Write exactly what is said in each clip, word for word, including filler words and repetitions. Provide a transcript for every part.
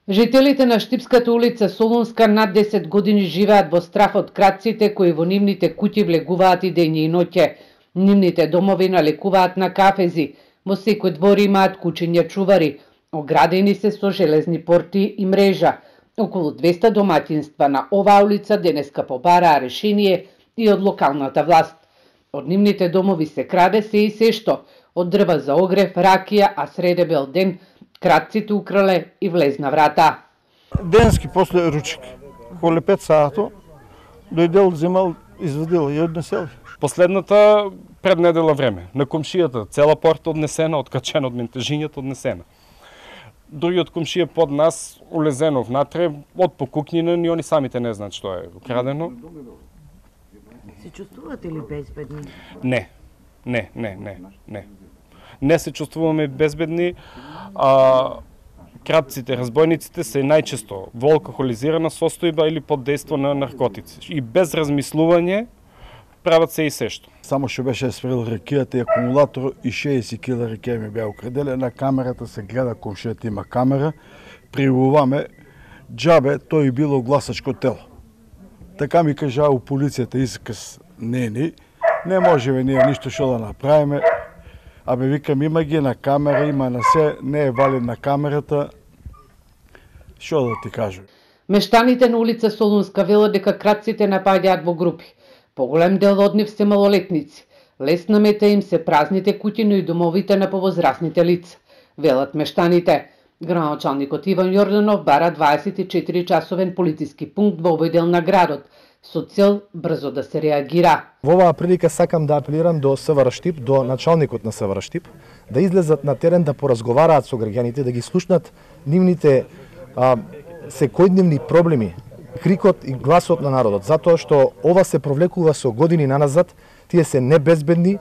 Жителите на Штипската улица Солунска над десет години живеат во страф од крадците кои во нивните куќи влегуваат и дење и ноќе. Нивните домови налекуваат на кафези, во секој двор имаат кучиња чувари, оградени се со железни порти и мрежа. Околу двесте домаќинства на оваа улица денеска побараа решение и од локалната власт. Од нивните домови се краде се и се што, од дрва за огрев, ракија, а среде бел ден крадците украле и влезна врата. Денески после ручек, околу пет сато, дојдел, земал, извадил и однесел. Последната пред недела време, на комшијата, цела порта однесена, откачена од ментежињата однесена. Другиот комшија под нас улезено внатре, од покукнина, ни они самите не знаат што е украдено. Се чувствувате ли безбедни? Не, не, не, не, не. Не се чувствуваме безбедни. А, кратците, разбойниците се најчесто во алкохолизирана состојба или под дејство на наркотици. И без размислување прават се и се што. Само што беше сврил ракијата и акумулатор и шеесет кила ракија ми беа украделе. На камерата се гледа, комшијата има камера. Пријавуваме џабе, тој било гласачко тело. Така ми кажа у полицијата исказ нени, не можеме ние ништо што да направиме. Абе викам, има ги на камера, има на се, не е валид на камерата. Што да ти кажам? Мештаните на улица Солунска велат дека крадците напаѓаат во групи. Поголем дел од нив се малолетници. Лесна мета им се празните куќи, но и домовите на повозрасните лица. Велат мештаните. Градоначалникот Иван Јорданов бара дваесет и четири часовен полициски пункт во овој дел на градот, со цел брзо да се реагира. Во оваа прилика сакам да апелирам до СВР Штип, до началникот на СВР Штип, да излезат на терен да поразговараат со граѓаните, да ги слушнат нивните а, секојдневни проблеми, крикот и гласот на народот, затоа што ова се провлекува со години наназад, тие се небезбедни.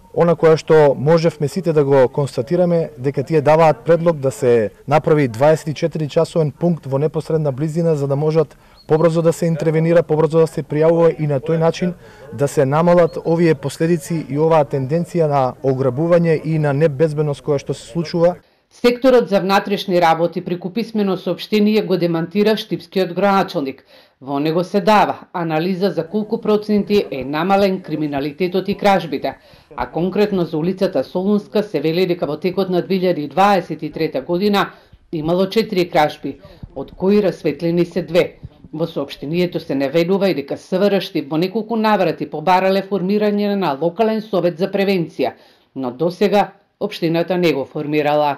Она која што можевме сите да го констатираме, дека тие даваат предлог да се направи дваесет и четири часовен пункт во непосредна близина за да можат побрзо да се интервенира, побрзо да се пријавува и на тој начин да се намалат овие последици и оваа тенденција на ограбување и на небезбедност која што се случува. Секторот за внатрешни работи преку писмено соопштение го демантира штипскиот градоначалник. Во него се дава анализа за колку проценти е намален криминалитетот и кражбите, а конкретно за улицата Солунска се вели дека во текот на две илјади дваесет и трета година имало четири кражби, од кои расветлени се две. Во соопштението се наведува и дека СВР Штип во неколку наврати побарале формирање на локален совет за превенција, но досега општината не го формирала.